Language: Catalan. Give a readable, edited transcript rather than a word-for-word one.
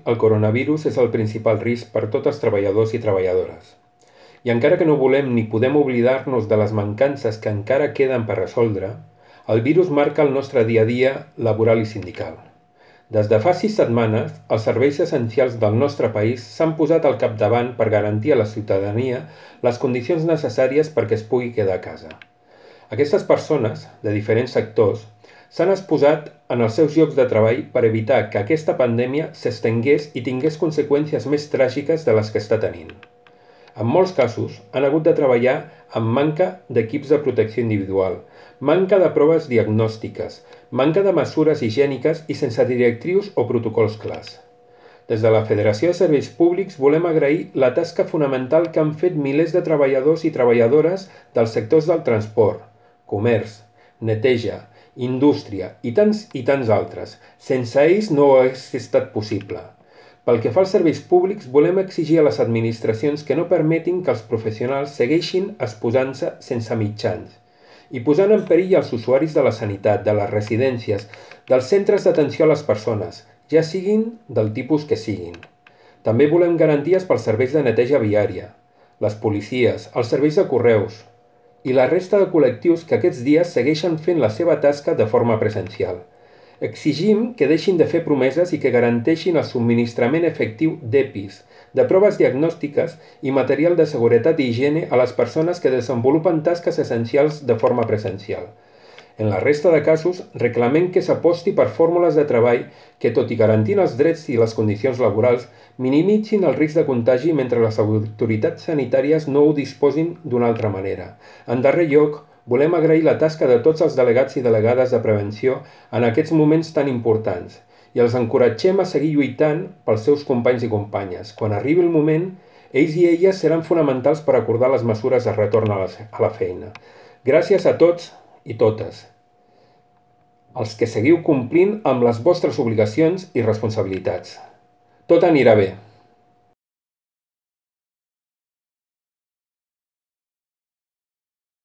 El coronavirus és el principal risc per tots els treballadors i treballadores. I encara que no volem ni podem oblidar-nos de les mancances que encara queden per resoldre, el virus marca el nostre dia a dia laboral i sindical. Des de fa 6 setmanes, els serveis essencials del nostre país s'han posat al capdavant per garantir a la ciutadania les condicions necessàries perquè es pugui quedar a casa. Aquestes persones, de diferents sectors, s'han exposat en els seus llocs de treball per evitar que aquesta pandèmia s'estengués i tingués conseqüències més tràgiques de les que està tenint. En molts casos, han hagut de treballar amb manca d'equips de protecció individual, manca de proves diagnòstiques, manca de mesures higièniques i sense directrius o protocols clars. Des de la Federació de Serveis Públics volem agrair la tasca fonamental que han fet milers de treballadors i treballadores dels sectors del transport, comerç, neteja, indústria i tants altres. Sense ells no hagués estat possible. Pel que fa als serveis públics, volem exigir a les administracions que no permetin que els professionals segueixin exposant-se sense mitjans i posant en perill els usuaris de la sanitat, de les residències, dels centres d'atenció a les persones, ja siguin del tipus que siguin. També volem garanties pels serveis de neteja viària, les policies, els serveis de correus i la resta de col·lectius que aquests dies segueixen fent la seva tasca de forma presencial. Exigim que deixin de fer promeses i que garanteixin el subministrament efectiu d'EPIs, de proves diagnòstiques i material de seguretat i higiene a les persones que desenvolupen tasques essencials de forma presencial. En la resta de casos, reclamem que s'aposti per fórmules de treball que, tot i garantint els drets i les condicions laborals, minimitzin el risc de contagi mentre les autoritats sanitàries no ho disposin d'una altra manera. En darrer lloc, volem agrair la tasca de tots els delegats i delegades de prevenció en aquests moments tan importants i els encoratgem a seguir lluitant pels seus companys i companyes. Quan arribi el moment, ells i elles seran fonamentals per acordar les mesures de retorn a la feina. Gràcies a tots i totes, els que seguiu complint amb les vostres obligacions i responsabilitats. Tot anirà bé.